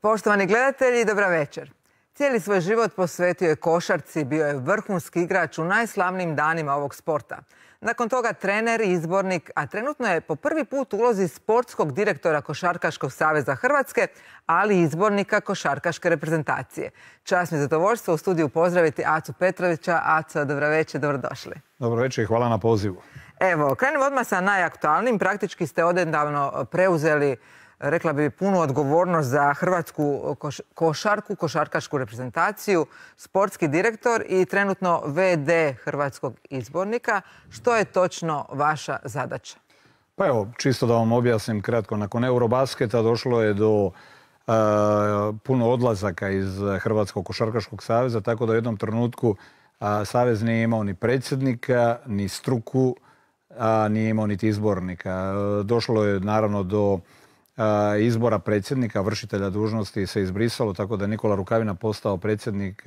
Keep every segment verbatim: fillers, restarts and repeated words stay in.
Poštovani gledatelji, dobra večer. Cijeli svoj život posvetio je košarci, bio je vrhunski igrač u najslavnijim danima ovog sporta. Nakon toga trener i izbornik, a trenutno je po prvi put u ulozi sportskog direktora Košarkaškog saveza Hrvatske, ali i izbornika košarkaške reprezentacije. Čast mi je zadovoljstvo u studiju pozdraviti Acu Petrovića. Aco, dobra večer, dobrodošli. Dobro večer i hvala na pozivu. Evo, krenimo odmah sa najaktualnim. Praktički ste odnedavno preuzeli, rekla bi, punu odgovornost za hrvatsku košarku, košarkašku reprezentaciju, sportski direktor i trenutno ve de hrvatskog izbornika. Što je točno vaša zadaća? Pa evo, čisto da vam objasnim kratko. Nakon Eurobasketa došlo je do uh, puno odlazaka iz Hrvatskog košarkaškog saveza, tako da u jednom trenutku uh, savez nije imao ni predsjednika, ni struku, a nije imao niti izbornika. Uh, došlo je naravno do izbora predsjednika, vršitelja dužnosti se izbrisalo, tako da je Nikola Rukavina postao predsjednik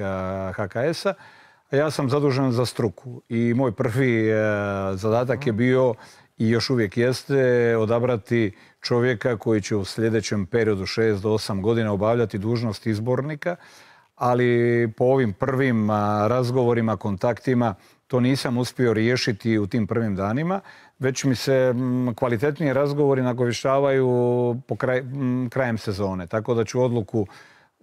ha ka es-a. Ja sam zadužen za struku i moj prvi zadatak je bio i još uvijek jeste odabrati čovjeka koji će u sljedećem periodu šest do osam godina obavljati dužnost izbornika, ali po ovim prvim razgovorima, kontaktima to nisam uspio riješiti u tim prvim danima, već mi se kvalitetniji razgovori nagovještavaju po kraj, krajem sezone. Tako da ću odluku,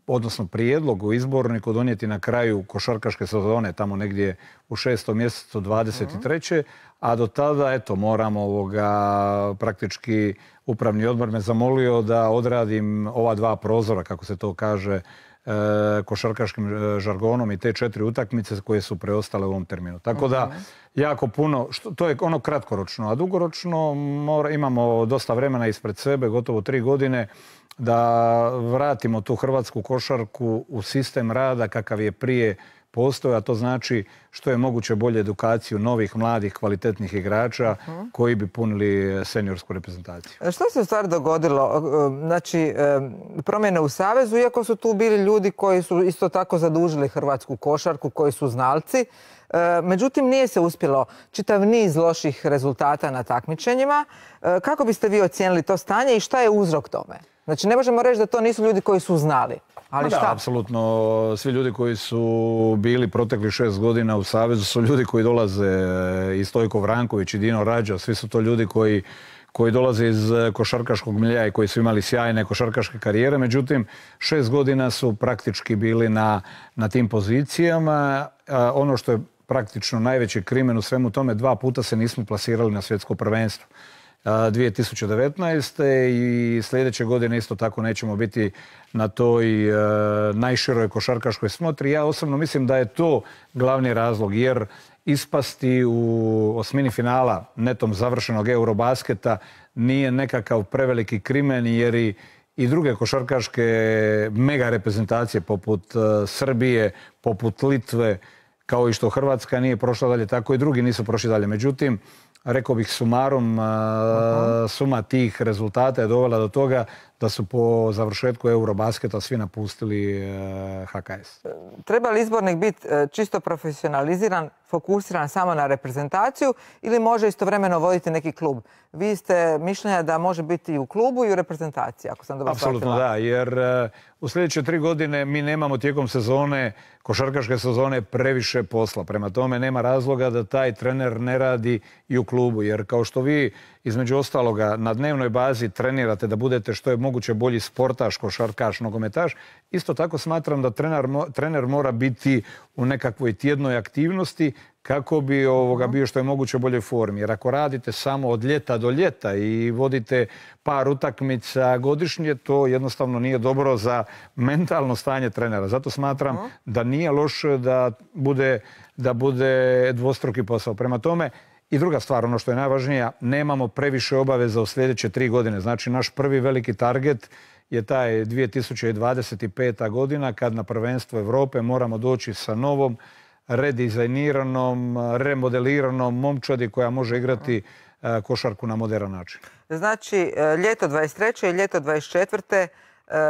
odnosno prijedlog u izborniku donijeti na kraju košarkaške sezone, tamo negdje u šestom mjesecu dvadeset treće. A do tada, eto, moram ovoga, praktički upravni odbor me zamolio da odradim ova dva prozora, kako se to kaže, košarkaškim žargonom i te četiri utakmice koje su preostale u ovom terminu. Tako da, jako puno, što, to je ono kratkoročno, a dugoročno mora, imamo dosta vremena ispred sebe, gotovo tri godine, da vratimo tu hrvatsku košarku u sistem rada kakav je prije postoje, a to znači što je moguće bolje edukaciju novih, mladih, kvalitetnih igrača uh-huh. koji bi punili seniorsku reprezentaciju. Što se u stvari dogodilo? Znači, promjene u Savezu, iako su tu bili ljudi koji su isto tako zadužili hrvatsku košarku, koji su znalci, međutim nije se uspjelo, čitav niz loših rezultata na takmičenjima. Kako biste vi ocijenili to stanje i šta je uzrok tome? Znači, ne možemo reći da to nisu ljudi koji su znali. Ali šta? Da, apsolutno. Svi ljudi koji su bili protekli šest godina u Savezu su ljudi koji dolaze i Stojko Vranković i Dino Rađa. Svi su to ljudi koji, koji dolaze iz košarkaškog milija i koji su imali sjajne košarkaške karijere. Međutim, šest godina su praktički bili na, na tim pozicijama. A ono što je praktično najveći krimen u svemu tome, dva puta se nismo plasirali na svjetsko prvenstvo. dvije tisuće devetnaeste. i sljedeće godine isto tako nećemo biti na toj e, najširoj košarkaškoj smotri. Ja osobno mislim da je to glavni razlog, jer ispasti u osmini finala netom završenog Eurobasketa nije nekakav preveliki krimen, jer i, i druge košarkaške mega reprezentacije poput e, Srbije, poput Litve, kao i što Hrvatska nije prošla dalje, tako i drugi nisu prošli dalje. Međutim, rekao bih sumarom, uh, suma tih rezultata je dovela do toga da su po završetku Eurobasketa svi napustili uh, ha ka es. Treba li izbornik biti uh, čisto profesionaliziran, fokusiran samo na reprezentaciju ili može istovremeno voditi neki klub? Vi ste mišljenja da može biti i u klubu i u reprezentaciji, ako sam dobro shvatila. Apsolutno da, jer uh, u sljedeće tri godine mi nemamo tijekom sezone, košarkaške sezone, previše posla. Prema tome nema razloga da taj trener ne radi i u klubu, jer kao što vi između ostaloga na dnevnoj bazi trenirate da budete što je moguće bolji sportaš, košarkaš, nogometaš, isto tako smatram da trener, trener mora biti u nekakvoj tjednoj aktivnosti kako bi ovoga bio što je moguće u boljoj formi. Jer ako radite samo od ljeta do ljeta i vodite par utakmica godišnje, to jednostavno nije dobro za mentalno stanje trenera. Zato smatram da nije loše da bude, da bude dvostruki posao. Prema tome, i druga stvar, ono što je najvažnija, nemamo previše obaveza u sljedeće tri godine. Znači, naš prvi veliki target je taj dvije tisuće dvadeset peta. godina, kad na prvenstvo Europe moramo doći sa novom, redizajniranom, remodeliranom momčadi koja može igrati košarku na moderan način. Znači, ljeto dvadeset treće i ljeto dvadeset četvrte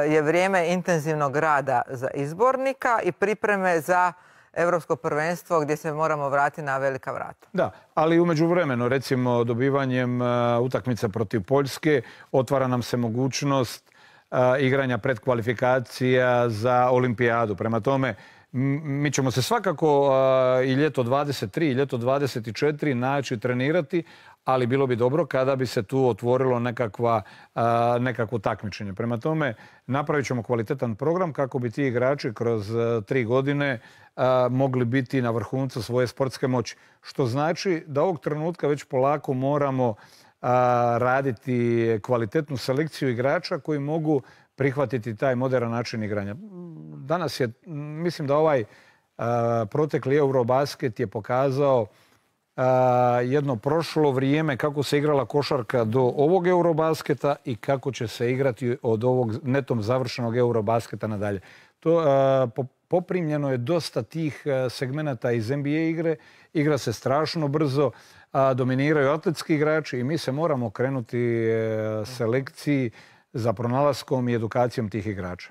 je vrijeme intenzivnog rada za izbornika i pripreme za Europsko prvenstvo gdje se moramo vratiti na velika vrata. Da, ali u međuvremenu, recimo, dobivanjem utakmice protiv Poljske otvara nam se mogućnost igranja predkvalifikacija za olimpijadu. Prema tome, mi ćemo se svakako i ljeto dvadeset tri i ljeto dvadeset četiri naći trenirati, ali bilo bi dobro kada bi se tu otvorilo nekakva, nekakvo takmičenje. Prema tome, napravit ćemo kvalitetan program kako bi ti igrači kroz tri godine mogli biti na vrhuncu svoje sportske moći. Što znači da ovog trenutka već polako moramo raditi kvalitetnu selekciju igrača koji mogu prihvatiti taj moderan način igranja. Danas je, mislim da ovaj protekli Eurobasket je pokazao jedno prošlo vrijeme kako se igrala košarka do ovog Eurobasketa i kako će se igrati od ovog netom završenog Eurobasketa nadalje. To poprimljeno je dosta tih segmenata iz N B A igre. Igra se strašno brzo, dominiraju atletski igrači i mi se moramo krenuti selekciji za pronalaskom i edukacijom tih igrača.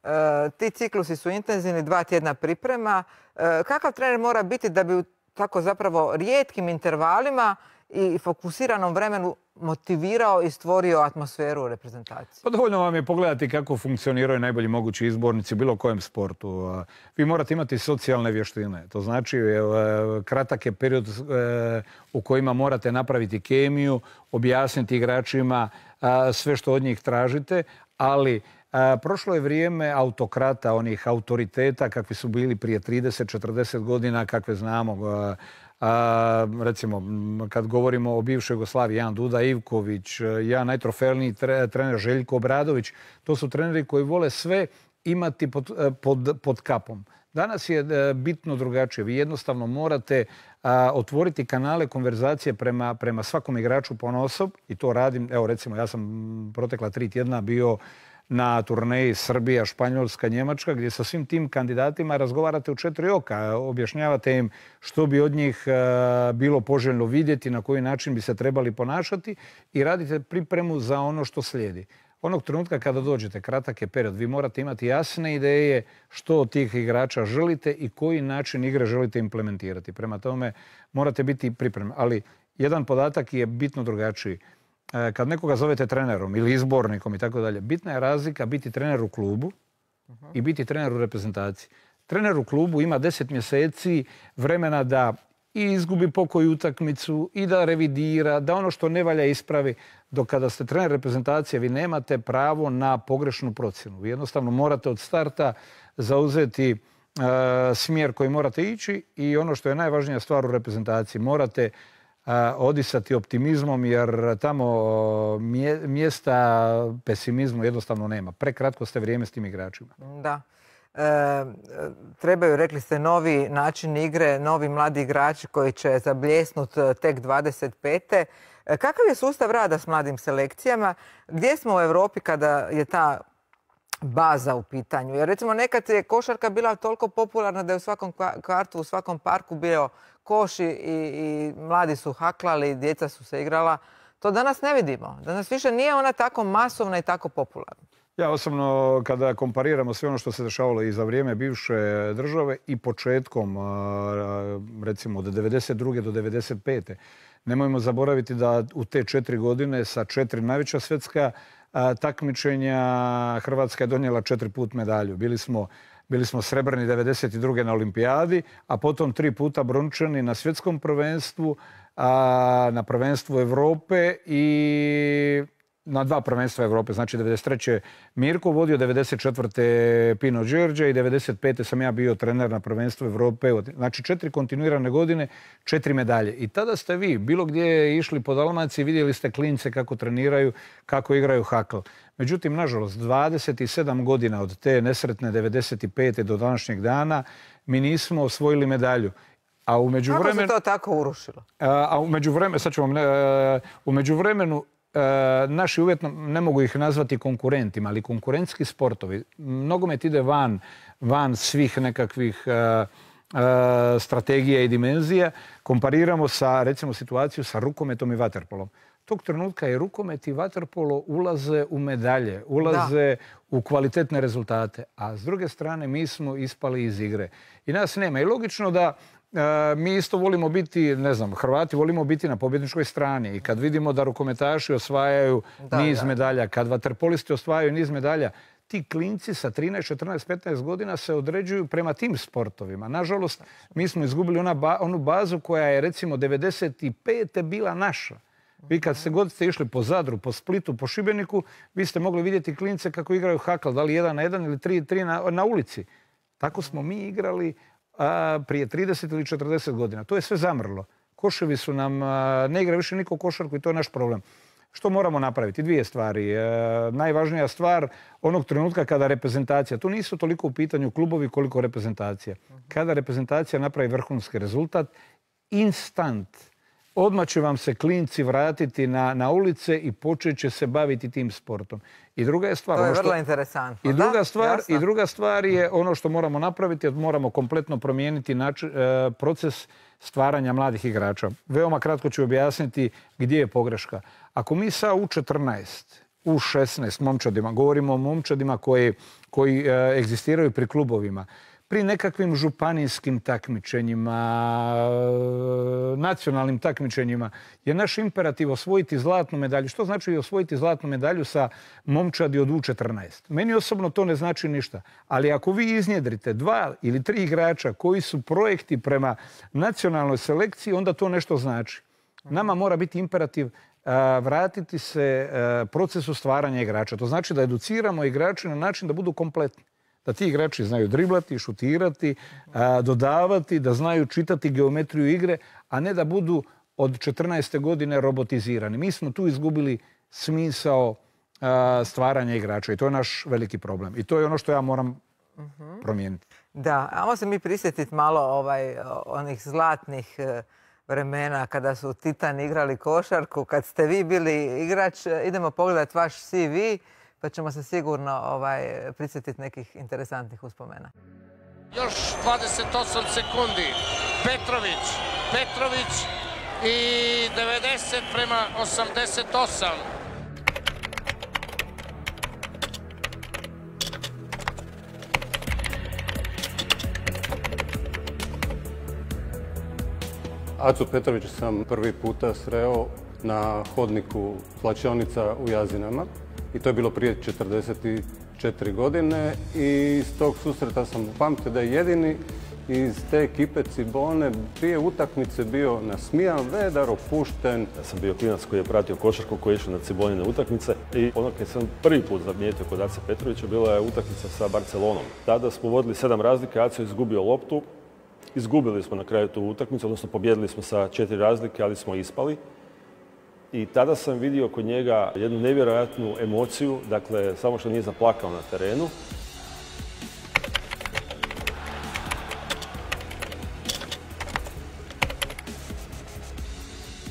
E, ti ciklusi su intenzivni, dva tjedna priprema. E, kakav trener mora biti da bi u tako zapravo rijetkim intervalima i fokusiranom vremenu motivirao i stvorio atmosferu u reprezentaciji? Pa dovoljno vam je pogledati kako funkcioniraju najbolji mogući izbornici u bilo kojem sportu. Vi morate imati socijalne vještine. To znači kratak je period u kojima morate napraviti kemiju, objasniti igračima sve što od njih tražite, ali prošlo je vrijeme autokrata, onih autoriteta kakvi su bili prije trideset četrdeset godina, kakve znamo. A, recimo, kad govorimo o bivšoj Jugoslaviji, Jan Duda Ivković, ja najtrofejniji trener Željko Obradović, to su treneri koji vole sve imati pod, pod, pod kapom. Danas je bitno drugačije. Vi jednostavno morate a, otvoriti kanale konverzacije prema, prema svakom igraču ponaosob i to radim. Evo recimo, ja sam protekla tri tjedna bio na turneji Srbija, Španjolska, Njemačka, gdje sa svim tim kandidatima razgovarate u četiri oka. Objašnjavate im što bi od njih bilo poželjno vidjeti, na koji način bi se trebali ponašati i radite pripremu za ono što slijedi. Onog trenutka kada dođete, kratak je period, vi morate imati jasne ideje što od tih igrača želite i koji način igre želite implementirati. Prema tome morate biti pripremni. Ali jedan podatak je bitno drugačiji. Kad nekoga zovete trenerom ili izbornikom i tako dalje, bitna je razlika biti trener u klubu i biti trener u reprezentaciji. Trener u klubu ima deset mjeseci vremena da i izgubi pokoju utakmicu i da revidira, da ono što ne valja ispravi. Dok kada ste trener reprezentacije, vi nemate pravo na pogrešnu procjenu. Vi jednostavno morate od starta zauzeti e, smjer koji morate ići i ono što je najvažnija stvar u reprezentaciji, morate odisati optimizmom jer tamo mjesta pesimizmu jednostavno nema. Prekratko ste vrijeme s tim igračima. Da. E, trebaju, rekli ste, novi način igre, novi mladi igrači koji će zabljesnuti tek dvadeset pete. Kakav je sustav rada s mladim selekcijama? Gdje smo u Europi kada je ta baza u pitanju? Jer recimo nekad je košarka bila toliko popularna da je u svakom kvartu, u svakom parku bio koš i, i mladi su haklali, djeca su se igrala. To danas ne vidimo. Danas više nije ona tako masovna i tako popularna. Ja osobno, kada kompariramo sve ono što se dešavalo i za vrijeme bivše države i početkom, recimo od devedeset druge do devedeset pete, nemojmo zaboraviti da u te četiri godine sa četiri najveća svjetska takmičenja Hrvatska je donijela četiri put medalju. Bili smo Bili smo srebrni devedeset druge na olimpijadi, a potom tri puta brončani na svjetskom prvenstvu, a na prvenstvu Europe i na dva prvenstva Europe. Znači devedeset treće Mirko vodio, devedeset četvrte Pino Đerđe i devedeset pete sam ja bio trener na prvenstvu Europe. Znači četiri kontinuirane godine, četiri medalje. I tada ste vi bilo gdje išli po Dalmaciji, vidjeli ste klince kako treniraju, kako igraju hakl. Međutim, nažalost, dvadeset sedam godina od te nesretne devedeset pete do današnjeg dana mi nismo osvojili medalju. A u međuvremenu... Kako se to tako urušilo? A, a u međuvremenu, sad ću vam, a, u međuvremenu a, naši uvjetno, ne mogu ih nazvati konkurentima, ali konkurentski sportovi. Nogomet ide van, van svih nekakvih a, a, strategija i dimenzija. Kompariramo sa, recimo, situaciju sa rukometom i vaterpolom. Tog trenutka i rukomet i vaterpolo ulaze u medalje, ulaze da. u kvalitetne rezultate. A s druge strane mi smo ispali iz igre. I nas nema. I logično da mi isto volimo biti, ne znam, Hrvati volimo biti na pobjedničkoj strani i kad vidimo da rukometaši osvajaju niz medalja, kad vaterpolisti osvajaju niz medalja, ti klinci sa trinaest, četrnaest, petnaest godina se određuju prema tim sportovima. Nažalost, mi smo izgubili onu bazu koja je recimo devedeset pete bila naša. Vi kad ste god ste išli po Zadru, po Splitu, po Šibeniku, vi ste mogli vidjeti klince kako igraju hakl, da li jedan na jedan ili tri, tri na, na ulici. Tako smo mi igrali a, prije trideset ili četrdeset godina. To je sve zamrlo. Koševi su nam, a, ne igra više niko košarku i to je naš problem. Što moramo napraviti? Dvije stvari. E, najvažnija stvar onog trenutka kada reprezentacija, tu nisu toliko u pitanju klubovi koliko reprezentacija. Kada reprezentacija napravi vrhunski rezultat, instant, odmah će vam se klinci vratiti na, na ulice i počet će se baviti tim sportom. I druga je stvar... To je ono što, vrlo interesantno. I druga, da? stvar, I druga stvar je ono što moramo napraviti, moramo kompletno promijeniti nači, e, proces stvaranja mladih igrača. Veoma kratko ću objasniti gdje je pogreška. Ako mi sa U četrnaest, U šesnaest momčadima, govorimo o momčadima koji, koji e, egzistiraju pri klubovima, pri nekakvim županijskim takmičenjima, nacionalnim takmičenjima, je naš imperativ osvojiti zlatnu medalju. Što znači osvojiti zlatnu medalju sa momčadi od U četrnaest? Meni osobno to ne znači ništa. Ali ako vi iznjedrite dva ili tri igrača koji su projekti prema nacionalnoj selekciji, onda to nešto znači. Nama mora biti imperativ vratiti se procesu stvaranja igrača. To znači da educiramo igrače na način da budu kompletni. Da ti igrači znaju driblati, šutirati, dodavati, da znaju čitati geometriju igre, a ne da budu od četrnaeste godine robotizirani. Mi smo tu izgubili smisao stvaranja igrača i to je naš veliki problem. I to je ono što ja moram promijeniti. Da, ajmo se mi prisjetiti malo ovaj, onih zlatnih vremena kada su Titani igrali košarku, kad ste vi bili igrač. Idemo pogledati vaš C V. Pa ćemo se sigurno ovaj, prisjetiti nekih interesantnih uspomena. Još dvadeset osam sekundi. Petrović. Petrović i devedeset prema osamdeset osam. Acu Petrovića sam prvi puta sreo na hodniku slačionica u Jazinama. I to je bilo prije četrdeset četiri godine i iz tog susreta sam upamtio da je jedini iz te ekipe Cibone prije utakmice bio nasmijan, vedar, opušten. Ja sam bio klinac koji je pratio košarku, koji je išao na Cibonine utakmice i ono kad sam prvi put zamijetio kod Ace Petrovića bila je utakmica sa Barcelonom. Tada smo vodili sedam razlike, Aco je izgubio loptu, izgubili smo na kraju tu utakmicu, odnosno pobjedili smo sa četiri razlike, ali smo ispali. I tada sam vidio kod njega jednu nevjerojatnu emociju, dakle, samo što nije zaplakao na terenu.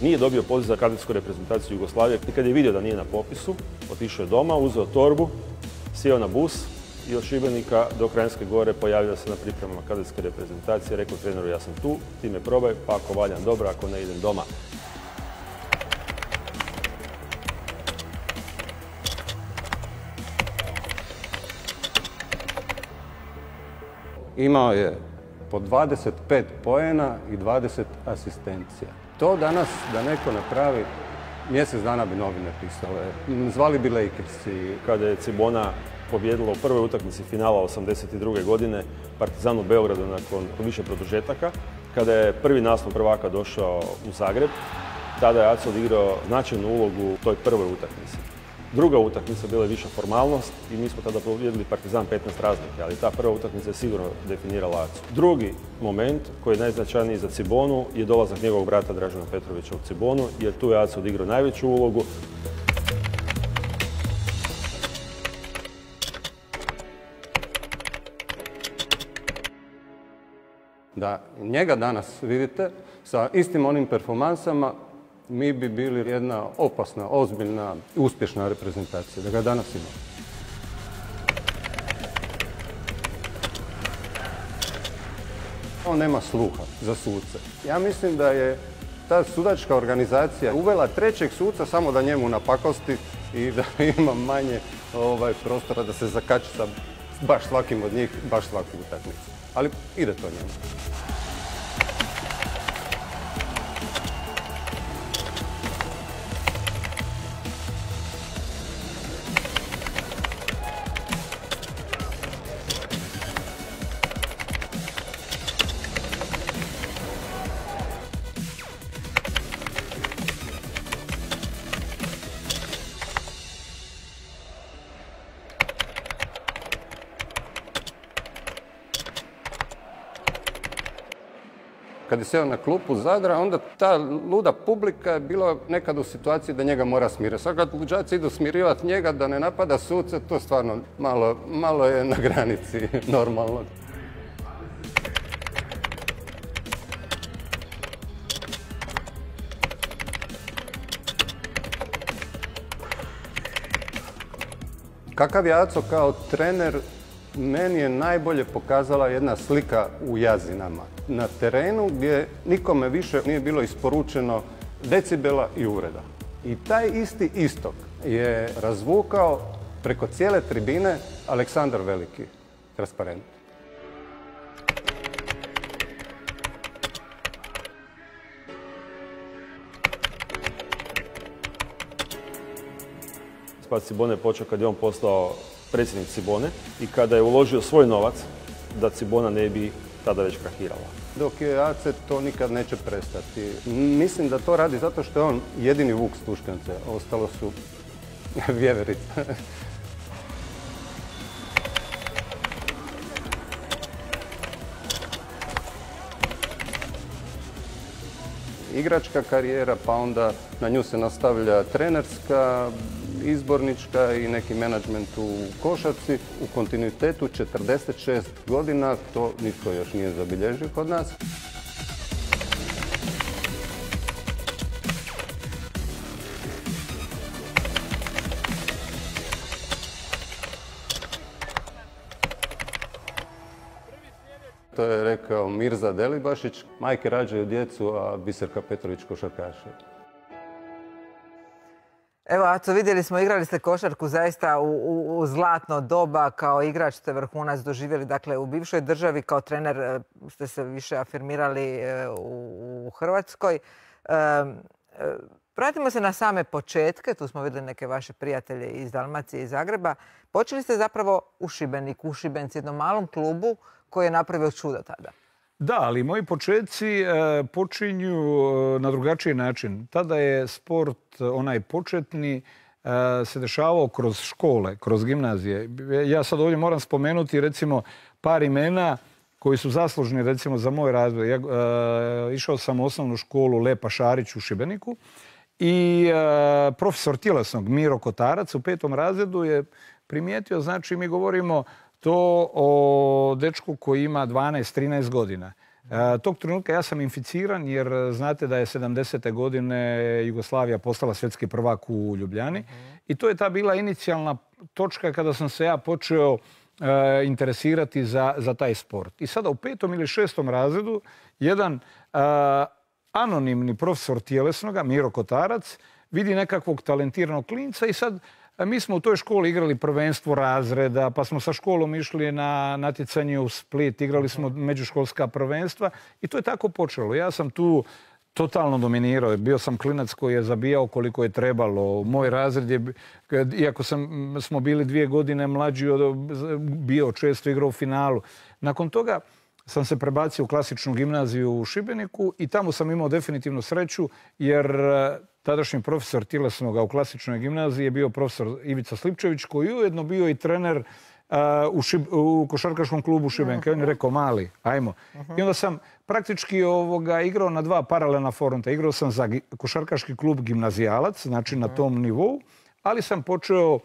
Nije dobio poziv za kadetsku reprezentaciju Jugoslavije. I kad je vidio da nije na popisu, otišao je doma, uzeo torbu, sjeo na bus i od Šibenika do Kranjske Gore pojavio se na pripremama kadetske reprezentacije. Rekao treneru, ja sam tu, ti me probaj, pa ako valjam dobro, ako ne idem doma. Imao je po dvadeset pet poena i dvadeset asistencija. To danas da neko napravi, mjesec dana bi novine pisale. Zvali bi Lakersi. Kada je Cibona pobjedila u prvoj utakmici finala osamdeset druge godine Partizan u Beogradu nakon više produžetaka, kada je prvi naslov prvaka došao u Zagreb, tada je Aco odigrao značajnu ulogu u toj prvoj utakmici. Druga utakmica bila je viša formalnost i mi smo tada pobjedili Partizan petnaest razlike, ali ta prva utakmica je sigurno definirala Acu. Drugi moment koji je najznačajniji za Cibonu je dolazak njegovog brata Dražena Petrovića u Cibonu, jer tu je Aco odigrao najveću ulogu. Da njega danas vidite sa istim onim performansama, mi bi bili jedna opasna, ozbiljna, uspješna reprezentacija, da ga danas imamo. On nema sluha za suce. Ja mislim da je ta sudačka organizacija uvela trećeg suca samo da njemu napakosti i da ima manje ovaj, prostora da se zakači sa baš svakim od njih, baš svaku utakmicu. Ali ide to njemu. kad je sjeo na klupu Zadra, onda ta luda publika je bila nekad u situaciji da njega mora smiriti. Sad kad luđaci idu smirivati njega da ne napada suce, to stvarno malo, malo je na granici normalnog. Kakav je Aco kao trener, meni je najbolje pokazala jedna slika u Jazinama. Na terenu gdje nikome više nije bilo isporučeno decibela i uvreda. I taj isti istok je razvukao preko cijele tribine Aleksandar Veliki, transparent. Spad Cibone je počeo kad je on postao predsjednik Cibone i kada je uložio svoj novac da Cibona ne bi tada već krahirala. Dok je Ace, to nikad neće prestati. Mislim da to radi zato što je on jedini vuk s Tuškance, ostalo su vjeverice. Igračka karijera, pa onda na nju se nastavlja trenerska, izbornička i neki menadžment u košarci. U kontinuitetu četrdeset šest godina, to nitko još nije zabilježio kod nas. To je rekao Mirza Delibašić, majke rađaju djecu, a Biserka Petrović košarkaše. Evo, Aco, vidjeli smo, igrali ste košarku zaista u, u, u zlatno doba. Kao igrač ste vrhunac doživjeli. Dakle, u bivšoj državi kao trener ste se više afirmirali u, u Hrvatskoj. E, vratimo se na same početke. Tu smo vidjeli neke vaše prijatelje iz Dalmacije i Zagreba. Počeli ste zapravo u Šibeniku, u Šibenci, jednom malom klubu koji je napravio čudo tada. Da, ali moji početci e, počinju na drugačiji način. Tada je sport, onaj početni, e, se dešavao kroz škole, kroz gimnazije. Ja sad ovdje moram spomenuti recimo par imena koji su zaslužni recimo za moj razvoj. Ja e, išao sam u osnovnu školu Lepa Šarić u Šibeniku i e, profesor tjelesnog Miro Kotarac u petom razredu je primijetio, znači mi govorimo to o dečku koji ima dvanaest trinaest godina. E, tog trenutka ja sam inficiran jer znate da je sedamdesete godine Jugoslavija postala svjetski prvak u Ljubljani. Uh-huh. I to je ta bila inicijalna točka kada sam se ja počeo e, interesirati za, za taj sport. I sada u petom ili šestom razredu jedan e, anonimni profesor tjelesnoga, Miro Kotarac, vidi nekakvog talentiranog klinca i sad mi smo u toj školi igrali prvenstvo razreda, pa smo sa školom išli na natjecanje u Split, igrali smo međuškolska prvenstva i to je tako počelo. Ja sam tu totalno dominirao. Bio sam klinac koji je zabijao koliko je trebalo. Moj razred je, iako sam, smo bili dvije godine mlađi, bio često igrao u finalu. Nakon toga sam se prebacio u klasičnu gimnaziju u Šibeniku i tamo sam imao definitivno sreću jer tadašnji profesor tjelesnoga u klasičnoj gimnaziji je bio profesor Ivica Slipčević koji je ujedno bio i trener uh, u, šib, u košarkaškom klubu Šibenika. Uh-huh. On je rekao mali, ajmo. Uh-huh. I onda sam praktički ovoga, igrao na dva paralelna fronta. Igrao sam za košarkaški klub Gimnazijalac, znači uh-huh. na tom nivou, ali sam počeo uh,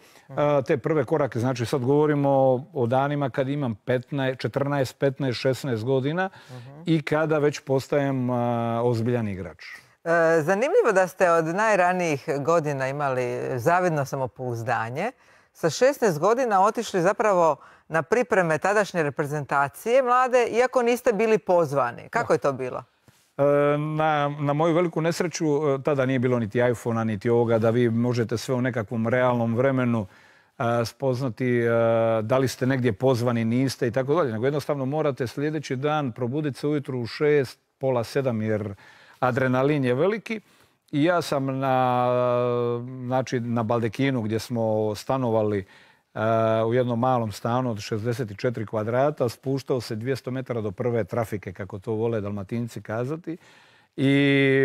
te prve korake. Znači sad govorimo o, o danima kad imam petnaest, četrnaest, petnaest, šesnaest godina uh-huh. i kada već postajem uh, ozbiljan igrač. Zanimljivo da ste od najranijih godina imali zavidno samopouzdanje. Sa šesnaest godina otišli zapravo na pripreme tadašnje reprezentacije mlade, iako niste bili pozvani. Kako je to bilo? Na, na moju veliku nesreću tada nije bilo niti iPhona, niti ovoga da vi možete sve u nekakvom realnom vremenu spoznati da li ste negdje pozvani, niste i tako dalje. Nego jednostavno morate sljedeći dan probuditi se ujutru u šest, pola sedam jer adrenalin je veliki i ja sam na, znači, na Baldekinu gdje smo stanovali uh, u jednom malom stanu od šezdeset četiri kvadrata, spuštao se dvjesto metara do prve trafike, kako to vole Dalmatinci kazati, i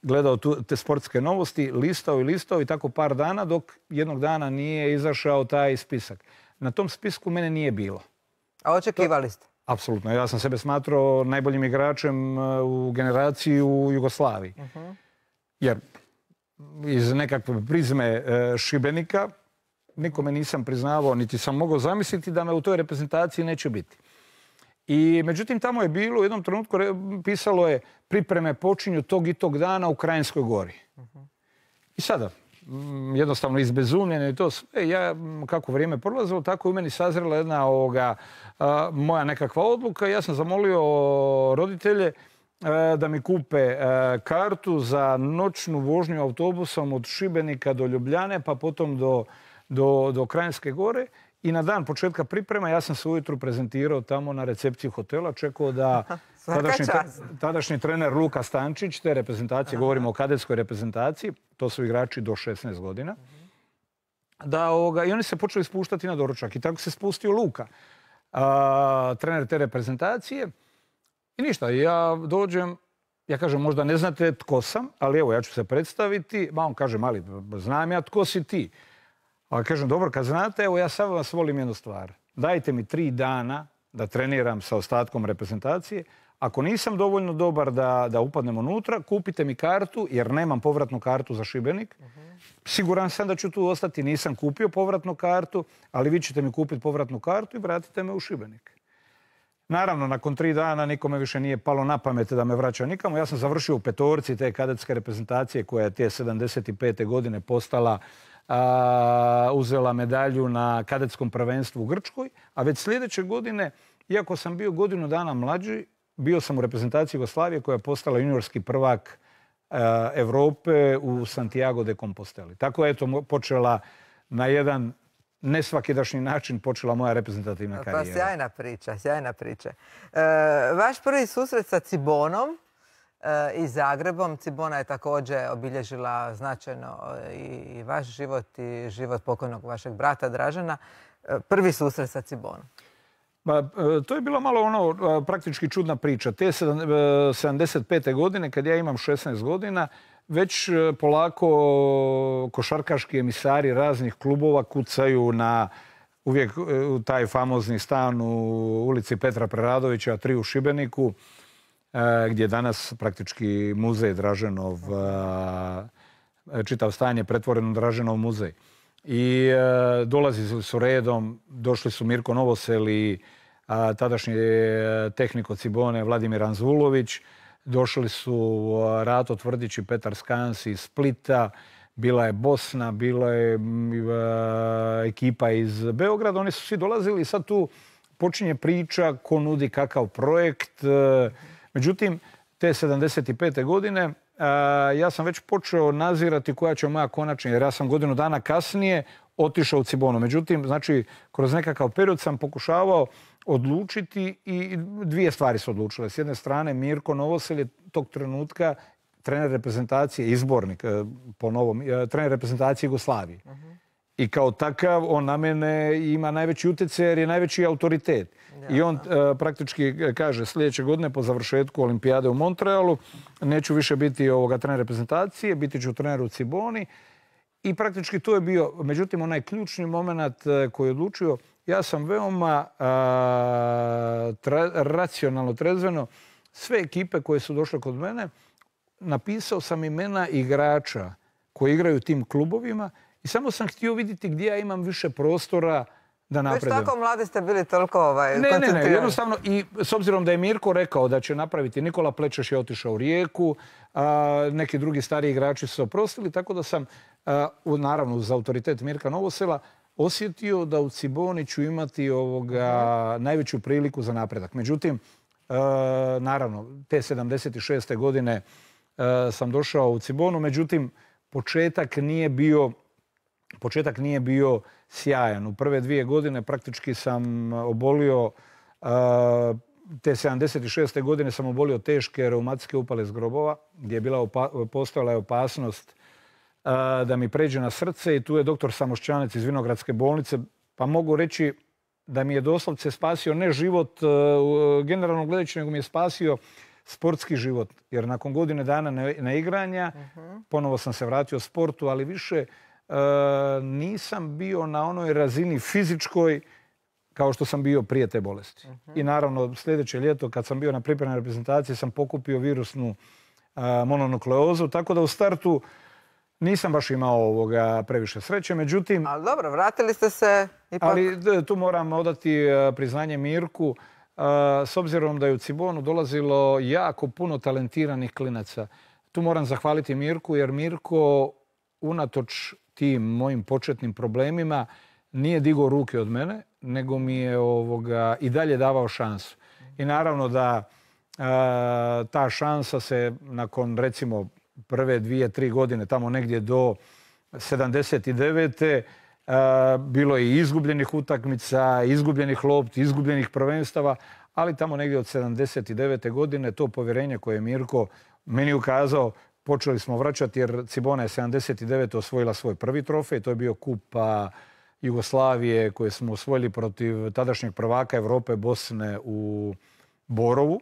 gledao tu, te sportske novosti, listao i listao i tako par dana dok jednog dana nije izašao taj spisak. Na tom spisku mene nije bilo. A očekivali ste? Apsolutno. Ja sam sebe smatrao najboljim igračem u generaciji u Jugoslaviji. Jer iz nekakve prizme Šibenika nikome nisam priznavao, niti sam mogao zamisliti da me u toj reprezentaciji neće biti. I međutim, tamo je bilo, u jednom trenutku pisalo je pripreme počinju tog i tog dana u Krajinskoj gori. I sada, jednostavno izbezumljeno i to sve, ja, kako vrijeme prolazilo, tako je u meni sazrela jedna ovoga, a, moja nekakva odluka. Ja sam zamolio roditelje a, da mi kupe a, kartu za noćnu vožnju autobusom od Šibenika do Ljubljane, pa potom do, do, do Krajinske gore. I na dan početka priprema ja sam se ujutru prezentirao tamo na recepciji hotela, čekao da tadašnji, tadašnji trener Luka Stančić, te reprezentacije, govorimo o kadetskoj reprezentaciji, to su igrači do šesnaest godina, da ovoga, i oni se počeli spuštati na doručak. I tako se spustio Luka, a, trener te reprezentacije. I ništa, ja dođem, ja kažem, možda ne znate tko sam, ali evo, ja ću se predstaviti. Ma on kaže, mali, znam ja tko si ti. Ali kažem, dobro, kad znate, evo ja sad vas volim jednu stvar. Dajte mi tri dana da treniram sa ostatkom reprezentacije. Ako nisam dovoljno dobar da, da upadnem unutra, kupite mi kartu, jer nemam povratnu kartu za Šibenik. Siguran sam da ću tu ostati, nisam kupio povratnu kartu, ali vi ćete mi kupiti povratnu kartu i vratite me u Šibenik. Naravno, nakon tri dana nikome više nije palo na pamet da me vraća nikamo. Ja sam završio u petorci te kadetske reprezentacije koja je te sedamdeset pete godine postala A, uzela medalju na kadetskom prvenstvu u Grčkoj, a već sljedeće godine, iako sam bio godinu dana mlađi, bio sam u reprezentaciji Jugoslavije koja je postala juniorski prvak a, Evrope u Santiago de Composteli. Tako je eto počela na jedan nesvakidašnji način počela moja reprezentativna karijera. Pa sjajna priča, sjajna priča. E, vaš prvi susret sa Cibonom i Zagrebom. Cibona je također obilježila značajno i vaš život i život pokojnog vašeg brata Dražena. Prvi susret sa Cibonom. Ba, to je bila malo ono praktički čudna priča. Te sedamdeset pete godine, kad ja imam šesnaest godina, već polako košarkaški emisari raznih klubova kucaju na uvijek u taj famozni stan u ulici Petra Preradovića, tri u Šibeniku, gdje je danas praktički muzej Draženov, čitav stan je pretvoren u Draženov muzej. I dolazili su redom, došli su Mirko Novosel i tadašnji tehnik Cibone Vladimir Anzulović, došli su Rato Tvrdić i Petar Skans iz Splita, bila je Bosna, bila je ekipa iz Beograda, oni su svi dolazili i sad tu počinje priča ko nudi kakav projekt. Međutim, te sedamdeset pete godine ja sam već počeo nazirati koja će moja konačna, jer ja sam godinu dana kasnije otišao u Cibonu. Međutim, znači, kroz nekakav period sam pokušavao odlučiti i dvije stvari su odlučile. S jedne strane, Mirko Novosel je tog trenutka trener reprezentacije, izbornik po novom, trener reprezentacije Jugoslavije. I kao takav on na mene ima najveći utjecaj jer je najveći autoritet. I on uh, praktički kaže sljedeće godine po završetku olimpijade u Montrealu neću više biti ovoga trener reprezentacije, biti ću trener u Ciboni. I praktički to je bio, međutim, onaj ključni moment koji je odlučio. Ja sam veoma uh, tra, racionalno, trezveno, sve ekipe koje su došle kod mene, napisao sam imena igrača koji igraju u tim klubovima i samo sam htio vidjeti gdje ja imam više prostora da napredujem. Već tako mladi ste bili toliko ovaj, ne, ne, ne, jednostavno i s obzirom da je Mirko rekao da će napraviti, Nikola Plečeš je otišao u Rijeku, a, neki drugi stariji igrači su se oprostili, tako da sam, a, u, naravno uz autoritet Mirka Novosela, osjetio da u Ciboni ću imati ovoga, najveću priliku za napredak. Međutim, a, naravno, te sedamdeset šeste godine a, sam došao u Cibonu, međutim, početak nije bio Početak nije bio sjajan. U prve dvije godine praktički sam obolio, te sedamdeset šeste godine sam obolio teške reumatske upale zgrobova, gdje je bila postojala je opasnost da mi pređe na srce i tu je doktor Samošćanec iz Vinogradske bolnice, pa mogu reći da mi je doslovce spasio ne život generalno gledajući, nego mi je spasio sportski život. Jer nakon godine dana neigranja ponovo sam se vratio sportu, ali više Uh, nisam bio na onoj razini fizičkoj kao što sam bio prije te bolesti. I naravno sljedeće ljeto kad sam bio na pripremnoj reprezentaciji sam pokupio virusnu a, mononukleozu, tako da u startu nisam baš imao ovoga previše sreće, međutim... Ali dobro, vratili ste se ipak... Ali tu moram odati priznanje Mirku, s obzirom da je u Cibonu dolazilo jako puno talentiranih klinaca. Tu moram zahvaliti Mirku, jer Mirko, unatoč tim mojim početnim problemima, nije digao ruke od mene, nego mi je ovoga i dalje davao šansu. I naravno da a, ta šansa se nakon recimo prve dvije, tri godine, tamo negdje do sedamdeset devete. A, bilo je i izgubljenih utakmica, izgubljenih lopti, izgubljenih prvenstava, ali tamo negdje od sedamdeset devete godine to povjerenje koje je Mirko meni ukazao, počeli smo vraćati jer Cibona je sedamdeset devete osvojila svoj prvi trofej, to je bio kupa Jugoslavije koje smo osvojili protiv tadašnjeg prvaka Europe Bosne u Borovu.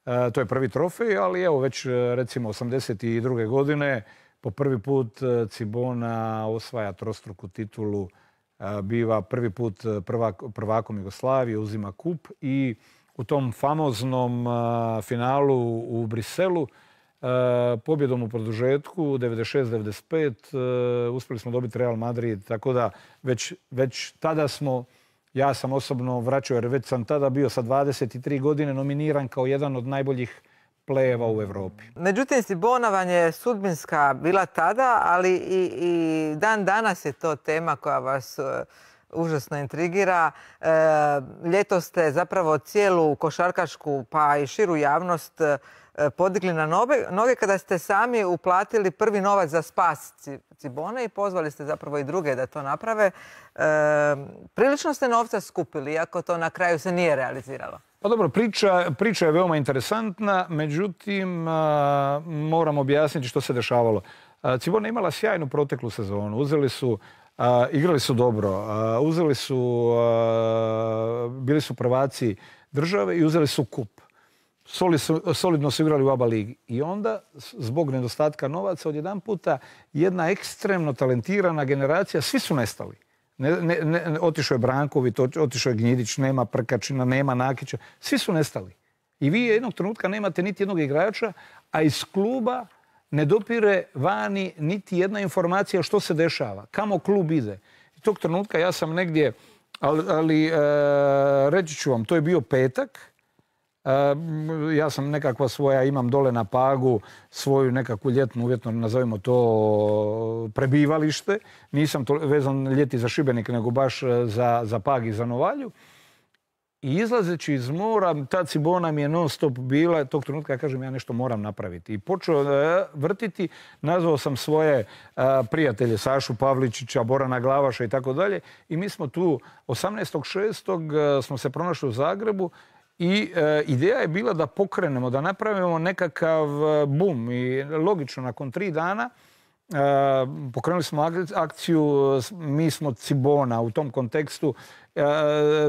E, to je prvi trofej, ali evo već recimo osamdeset druge godine po prvi put Cibona osvaja trostruku titulu, e, biva prvi put prvak, prvakom Jugoslavije, uzima kup i u tom famoznom a, finalu u Briselu Uh, pobjedom u produžetku devedeset šest devedeset pet uh, uspjeli smo dobiti Real Madrid, tako da već, već tada smo, ja sam osobno vraćao jer već sam tada bio sa dvadeset tri godine nominiran kao jedan od najboljih plejeva u Europi. Međutim, Cibona vam je sudbinska bila tada, ali i, i dan danas je to tema koja vas uh, užasno intrigira. E, ljetos ste zapravo cijelu košarkašku pa i širu javnost podigli na noge kada ste sami uplatili prvi novac za spas Cibone i pozvali ste zapravo i druge da to naprave. E, prilično ste novca skupili, iako to na kraju se nije realiziralo. Pa dobro, priča, priča je veoma interesantna, međutim a, moram objasniti što se dešavalo. A, Cibona je imala sjajnu proteklu sezonu. Uzeli su, a, igrali su dobro, a, uzeli su, a, bili su prvaci države i uzeli su kup. Solidno su igrali u A B A ligi. I onda, zbog nedostatka novaca, odjedan puta jedna ekstremno talentirana generacija, svi su nestali. Ne, ne, ne, otišao je Branković, otišao je Gnjidić, nema Prkačina, nema Nakića. Svi su nestali. I vi jednog trenutka nemate niti jednog igrača, a iz kluba ne dopire vani niti jedna informacija što se dešava, kamo klub ide. I tog trenutka ja sam negdje, ali, ali e, reći ću vam, to je bio petak. Uh, ja sam nekakva svoja, imam dole na Pagu svoju nekakvu ljetnu, uvjetno nazovimo to, prebivalište. Nisam to vezan ljeti za Šibenik, nego baš za, za Pag i za Novalju. I izlazeći iz mora, ta Cibona mi je non stop bila, tog trenutka ja kažem ja nešto moram napraviti. I počeo uh, vrtiti, nazvao sam svoje uh, prijatelje, Sašu Pavličića, Borana Glavaša i tako dalje. I mi smo tu osamnaestog šestog Uh, smo se pronašli u Zagrebu. I e, ideja je bila da pokrenemo, da napravimo nekakav bum. I logično, nakon tri dana e, pokrenuli smo akciju, mi smo Cibona u tom kontekstu, e,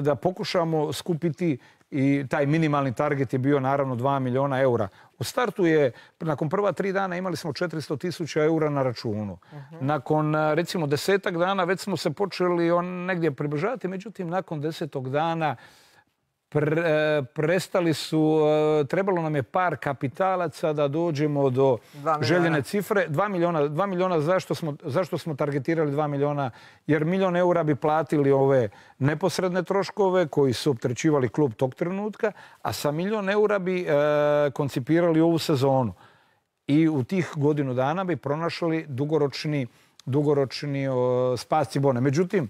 da pokušamo skupiti i taj minimalni target je bio naravno dva milijuna eura. U startu je, nakon prva tri dana imali smo četiristo tisuća eura na računu. Uh-huh. Nakon recimo desetak dana već smo se počeli on negdje približavati, međutim nakon desetog dana Pre, prestali su, trebalo nam je par kapitalaca da dođemo do željene cifre. Dva milijuna. Dva milijuna, zašto smo, zašto smo targetirali dva milijuna? Jer milijon eura bi platili ove neposredne troškove koji su opterećivali klub tog trenutka, a sa milijon eura bi e, koncipirali ovu sezonu. I u tih godinu dana bi pronašli dugoročni, dugoročni o, spas Cibone. Međutim,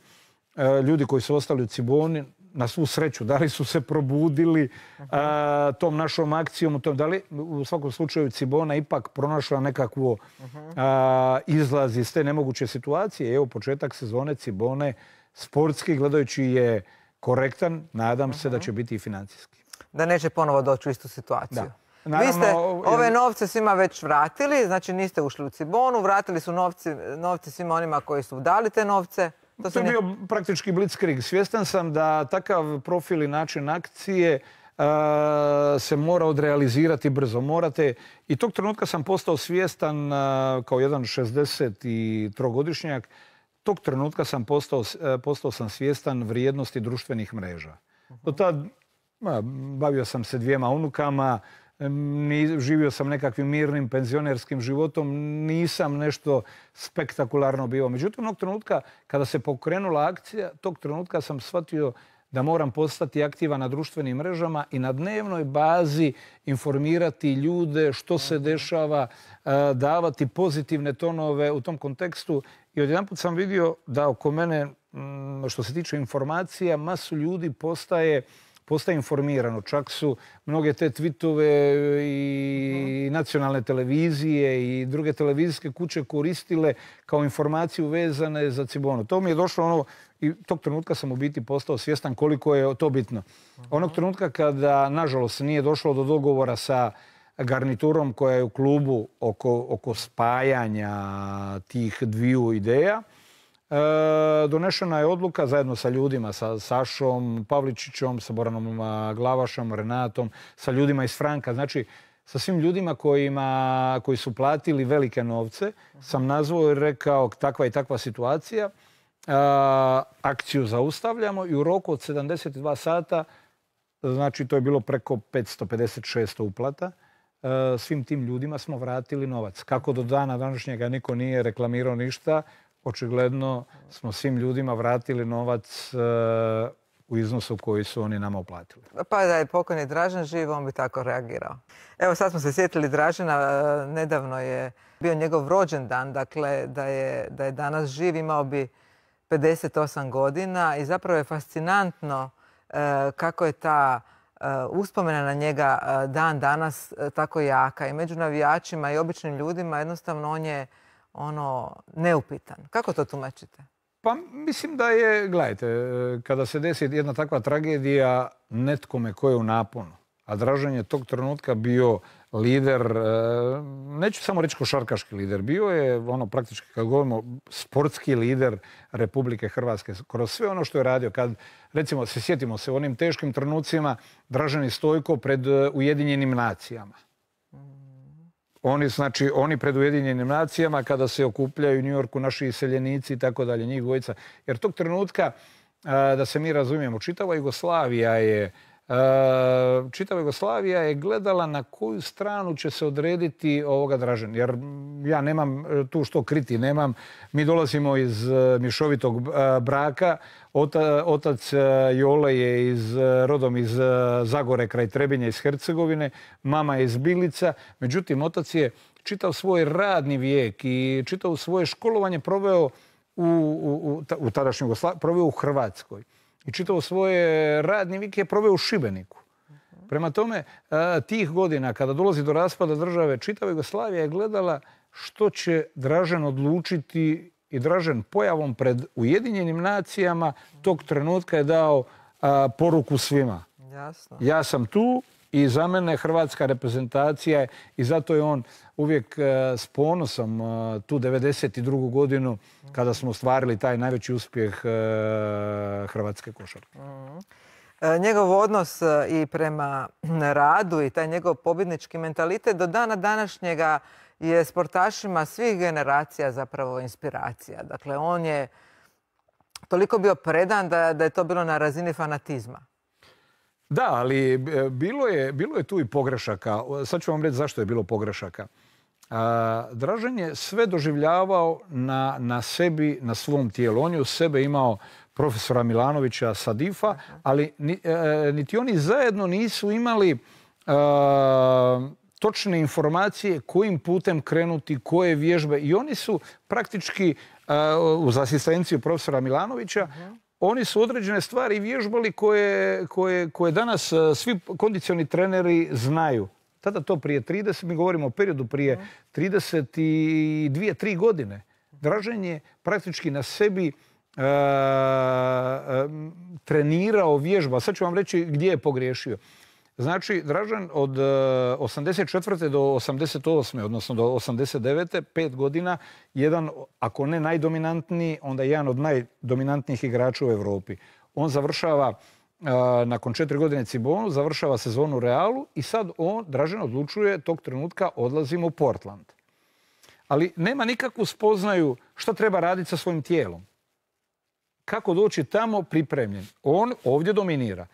e, ljudi koji su ostali u Ciboni, na svu sreću, da li su se probudili a, tom našom akcijom, tom, da li u svakom slučaju Cibona ipak pronašla nekakvu a, izlaz iz te nemoguće situacije. Evo, početak sezone Cibone, sportski gledajući je korektan, nadam se da će biti i financijski. Da neće ponovo doći u istu situaciju. Da. Naravno, vi ste ove novce svima već vratili, znači niste ušli u Cibonu, vratili su novci, novci svima onima koji su dali te novce. To, to je bio praktički blitzkrieg. Svjestan sam da takav profil i način akcije uh, se mora odrealizirati brzo. Morate, i tog trenutka sam postao svjestan uh, kao jedan šezdeset trogodišnjak tog trenutka sam postao, postao sam svjestan vrijednosti društvenih mreža. Do tad bavio sam se dvijema unukama, živio sam nekakvim mirnim penzionerskim životom, nisam nešto spektakularno bio. Međutim, onog trenutka kada se pokrenula akcija, tog trenutka sam shvatio da moram postati aktivan na društvenim mrežama i na dnevnoj bazi informirati ljude što se dešava, davati pozitivne tonove u tom kontekstu. I odjedanput sam vidio da oko mene, što se tiče informacija, masu ljudi postaje postaje informirano. Čak su mnoge te tweetove i nacionalne televizije i druge televizijske kuće koristile kao informaciju vezane za Cibonu. To mi je došlo ono, i tog trenutka sam u biti postao svjestan koliko je to bitno. Onog trenutka kada, nažalost, nije došlo do dogovora sa garniturom koja je u klubu oko, oko spajanja tih dviju ideja, E, donešena je odluka zajedno sa ljudima, sa Sašom Pavličićom, sa Boranom Glavašom, Renatom, sa ljudima iz Franka, znači sa svim ljudima kojima, koji su platili velike novce, sam nazvao i rekao takva i takva situacija, e, akciju zaustavljamo i u roku od sedamdeset dva sata, znači to je bilo preko petsto pedeset šesto uplata, e, svim tim ljudima smo vratili novac. Kako do dana današnjega niko nije reklamirao ništa, očigledno smo svim ljudima vratili novac uh, u iznosu koji su oni nama uplatili. Pa da je pokojni Dražen živ, on bi tako reagirao. Evo sad smo se sjetili Dražena, nedavno je bio njegov rođendan, dakle da je, da je danas živ, imao bi pedeset osam godina i zapravo je fascinantno uh, kako je ta uh, uspomena na njega uh, dan danas uh, tako jaka i među navijačima i običnim ljudima jednostavno on je ono, neupitan. Kako to tumačite? Pa mislim da je, gledajte, kada se desi jedna takva tragedija netkome ko je u naponu, a Dražen je tog trenutka bio lider, neću samo reći košarkaški lider, bio je ono praktički, kad govorimo, sportski lider Republike Hrvatske kroz sve ono što je radio. Kad, recimo, se sjetimo se u onim teškim trenucima Dražen i Stojko pred Ujedinjenim nacijama. Oni, znači, oni pred Ujedinjenim nacijama kada se okupljaju u New Yorku naši iseljenici i tako dalje, njih dvojica. Jer tog trenutka, da se mi razumijemo, čitava Jugoslavija je čitava Jugoslavija je gledala na koju stranu će se odrediti ovoga Dražen. Jer ja nemam tu što kriti, nemam. Mi dolazimo iz mješovitog braka. Otac Jole je iz, rodom iz Zagore kraj Trebinja iz Hercegovine. Mama je iz Bilica. Međutim, otac je čitav svoj radni vijek i čitav svoje školovanje proveo u, u, u, u tadašnjoj Jugoslaviji, proveo u Hrvatskoj. I čitavo svoje radni vijek je proveo u Šibeniku. Prema tome, tih godina, kada dolazi do raspada države, čitava Jugoslavija je gledala što će Dražen odlučiti i Dražen pojavom pred Ujedinjenim nacijama tog trenutka je dao a, poruku svima. Jasno. Ja sam tu i za mene hrvatska reprezentacija je, i zato je on uvijek a, s ponosom a, tu devedeset drugu godinu kada smo ostvarili taj najveći uspjeh a, hrvatske košarke. Mm. Njegov odnos i prema radu i taj njegov pobjednički mentalitet do dana današnjega je sportašima svih generacija zapravo inspiracija. Dakle, on je toliko bio predan da, da je to bilo na razini fanatizma. Da, ali bilo je, bilo je tu i pogrešaka. Sad ću vam reći zašto je bilo pogrešaka. A, Dražen je sve doživljavao na, na sebi, na svom tijelu. On je u sebe imao profesora Milanovića Sadifa, ali niti oni zajedno nisu imali e, točne informacije kojim putem krenuti, koje vježbe. I oni su praktički, e, uz asistenciju profesora Milanovića, uh-huh. oni su određene stvari vježbali koje, koje, koje danas svi kondicioni treneri znaju. Tada to prije trideset, mi govorimo o periodu prije trideset dvije tri godine. Dražen je praktički na sebi E, e, trenirao vježba. Sad ću vam reći gdje je pogriješio. Znači, Dražen od osamdeset četvrte do osamdeset osme odnosno do osamdeset devete pet godina, jedan, ako ne najdominantniji, onda jedan od najdominantnijih igrača u Europi. On završava, e, nakon četiri godine Cibonu, završava sezonu u Realu i sad on, Dražen, odlučuje tog trenutka odlazimo u Portland. Ali nema nikakvu spoznaju šta treba raditi sa svojim tijelom. kako doći tamo pripremljen. On ovdje dominira.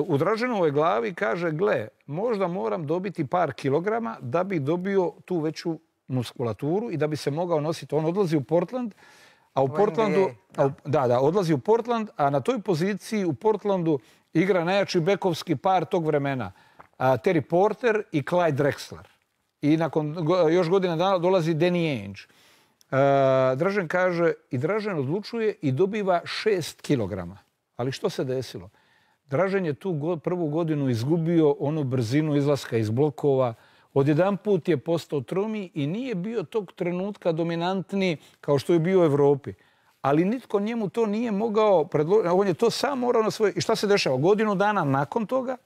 U Draženovoj glavi kaže, gle, možda moram dobiti par kilograma da bi dobio tu veću muskulaturu i da bi se mogao nositi. On odlazi u Portland, a u Portlandu, a, da, da, odlazi u Portland, a na toj poziciji u Portlandu igra najjači bekovski par tog vremena. A, Terry Porter i Clyde Drexler. I nakon go, još godina dana dolazi Danny Ainge. A, Dražen kaže, i Dražen odlučuje i dobiva šest kilograma. Ali što se desilo? Dražen je tu go, prvu godinu izgubio onu brzinu izlaska iz blokova. Odjedanput je postao tromi i nije bio tog trenutka dominantni kao što je bio u Evropi. Ali nitko njemu to nije mogao predložiti. On je to sam morao na svoje... I šta se dešava? Godinu dana nakon toga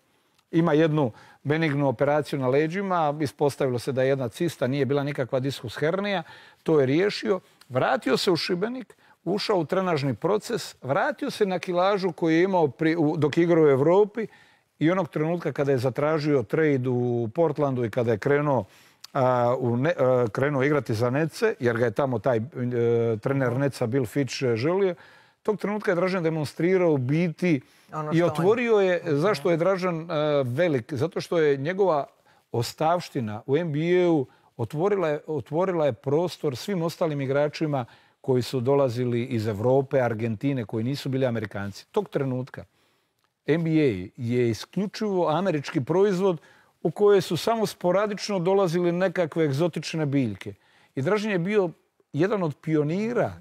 ima jednu benignu operaciju na leđima. Ispostavilo se da je jedna cista, nije bila nikakva diskus hernija. To je riješio. Vratio se u Šibenik, ušao u trenažni proces, vratio se na kilažu koju je imao pri, u, dok igrao u Evropi i onog trenutka kada je zatražio trade u Portlandu i kada je krenuo, a, u ne, a, krenuo igrati za Nece, jer ga je tamo taj a, trener Neca Bill Fitch želio, tog trenutka je Dražen demonstrirao biti ono i otvorio on... je, zašto je Dražen a, velik? Zato što je njegova ostavština u N B A-u otvorila je, otvorila je prostor svim ostalim igračima koji su dolazili iz Evrope, Argentine, koji nisu bili Amerikanci. Tog trenutka N B A je isključivo američki proizvod u koje su samo sporadično dolazili nekakve egzotične biljke. I Dražen je bio jedan od pionira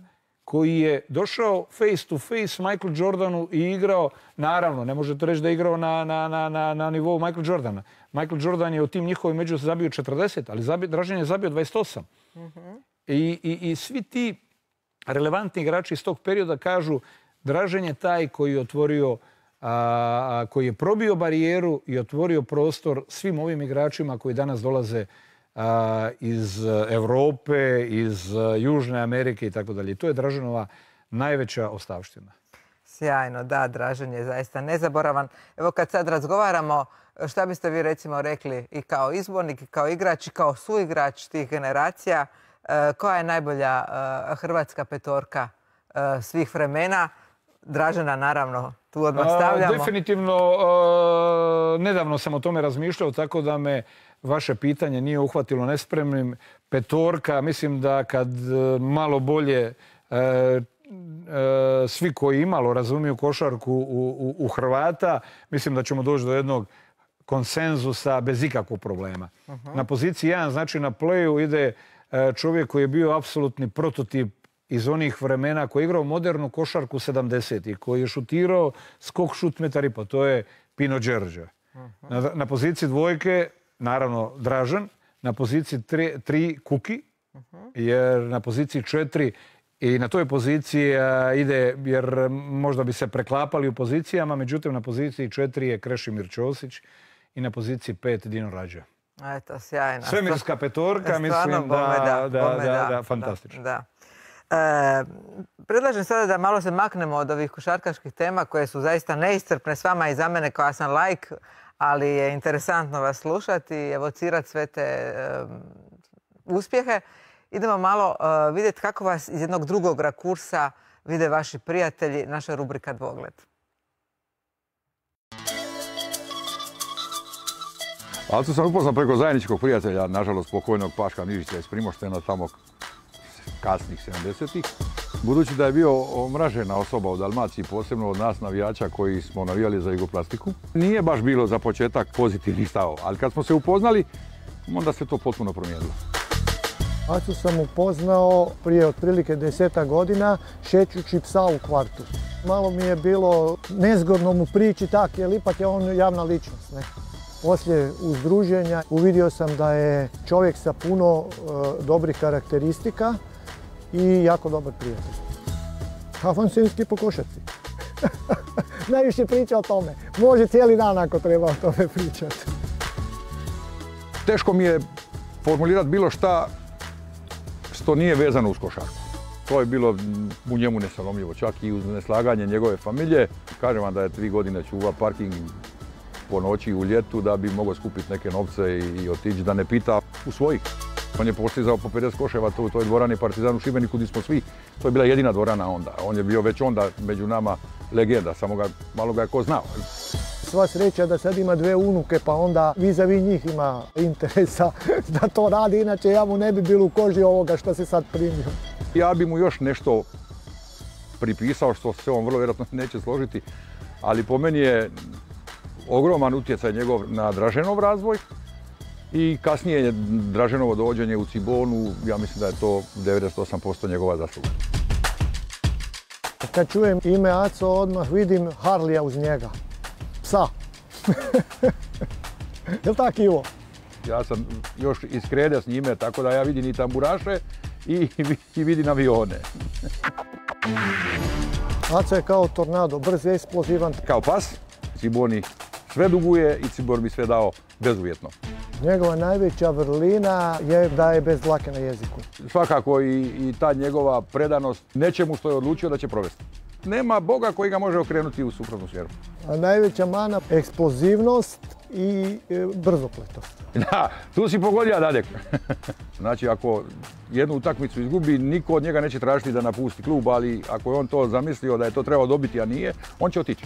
koji je došao face to face Michael Jordanu i igrao, naravno, ne možete reći da je igrao na, na, na, na, na nivou Michael Jordana. Michael Jordan je u tim njihovim među zabio četrdeset, ali zabio, Dražen je zabio dvadeset osam. Mm-hmm. I, i, I svi ti relevantni igrači iz tog perioda kažu Dražen je taj koji je otvorio, a, koji je probio barijeru i otvorio prostor svim ovim igračima koji danas dolaze a, iz Evrope, iz Južne Amerike i tako dalje. To je Draženova najveća ostavština. Sjajno, da, Dražen je zaista nezaboravan. Evo kad sad razgovaramo, šta biste vi recimo rekli i kao izbornik, i kao igrač, i kao suigrač tih generacija, koja je najbolja hrvatska petorka svih vremena? Dražena, naravno, tu odmah stavljamo. Definitivno, nedavno sam o tome razmišljao, tako da me vaše pitanje nije uhvatilo nespremnim. Petorka, mislim da kad malo bolje svi koji imalo razumiju košarku u, u, u Hrvata, mislim da ćemo doći do jednog konsenzusa bez ikakvog problema. Uh-huh. Na poziciji jedan, znači na playu, ide čovjek koji je bio apsolutni prototip iz onih vremena, koji je igrao modernu košarku sedamdesetih, koji je šutirao skok šut metar i po. To je Pino Đerđa. Uh-huh. na, na poziciji dvojke, naravno, Dražen. Na poziciji tri, tri Kuki. Uh-huh. Jer na poziciji četiri i na toj poziciji a, ide, jer možda bi se preklapali u pozicijama, međutim na poziciji četiri je Krešimir Ćosić i na poziciji pet Dino Rađa. Eto, sjajno. Svemirska petorka, mislim da, da, da, da, da, fantastično. Da. E, predlažem sada da malo se maknemo od ovih košarkaških tema koje su zaista neiscrpne s vama i za mene koja sam laik, ali je interesantno vas slušati i evocirati sve te e, uspjehe. Idemo malo uh, vidjeti kako vas iz jednog drugog rakursa vide vaši prijatelji, naša rubrika Dvogled. Alcu sam upoznao preko zajedničkog prijatelja, nažalost pokojnog Paška Nižića iz Primoštena, tamo kasnih sedamdesetih. Budući da je bio omražena osoba u Dalmaciji, posebno od nas navijača koji smo navijali za Jugoplastiku, nije baš bilo za početak pozitivni stav, ali kad smo se upoznali, onda se to potpuno promijenilo. Acu sam upoznao prije otprilike desetak godina šećući psa u kvartu. Malo mi je bilo nezgodno mu prići tak, jer ipak je on javna ličnost. Ne? Poslije uzdruženja uvidio sam da je čovjek sa puno e, dobrih karakteristika i jako dobar prijatelj. Avansinski po košarci. Najviše priča o tome. Može cijeli dan ako treba o tome pričati. Teško mi je formulirati bilo šta što nije vezano uz košarku. To je bilo u njemu nesalomljivo, čak i uz neslaganje njegove familije. Kažem vam da je tri godine čuva parking po noći u ljetu da bi mogao skupiti neke novce i otići, da ne pita u svojih. On je postizao po pedeset koševa u toj dvorani Partizan u Šibeniku gdje smo svi. To je bila jedina dvorana onda. On je bio već onda među nama legenda, samo ga, malo ga je ko znao. Sva sreća da sad ima dve unuke, pa onda vis-a-vis njih ima interesa da to radi, inače ja mu ne bi bilo u koži ovoga što se sad primio. Ja bi mu još nešto pripisao što se on vrlo vjerojatno neće složiti, ali po meni je ogroman utjecaj njegov na Draženov razvoj i kasnije je Draženovo dovođenje u Cibonu, ja mislim da je to devedeset osam posto njegova zasluga. Kad čujem ime Aco, odmah vidim Harlija uz njega. Psa. Jel' tako, Ivo? Ja sam još iz Krede s njime, tako da ja vidim i tamburaše i, i vidim avione. Aco je kao tornado, brz, eksplozivan. Kao pas, Ciboni sve duguje i Cibor bi sve dao bezuvjetno. Njegova najveća vrlina je da je bez dlake na jeziku. Svakako i, i ta njegova predanost nečemu što je odlučio da će provesti. Nema Boga koji ga može okrenuti u suprotnu smjeru. A najveća mana, eksplozivnost i e, brzopletost. Da, tu si pogodio, Dadek. Znači, ako jednu utakmicu izgubi, niko od njega neće tražiti da napusti klub, ali ako je on to zamislio da je to trebao dobiti, a nije, on će otići.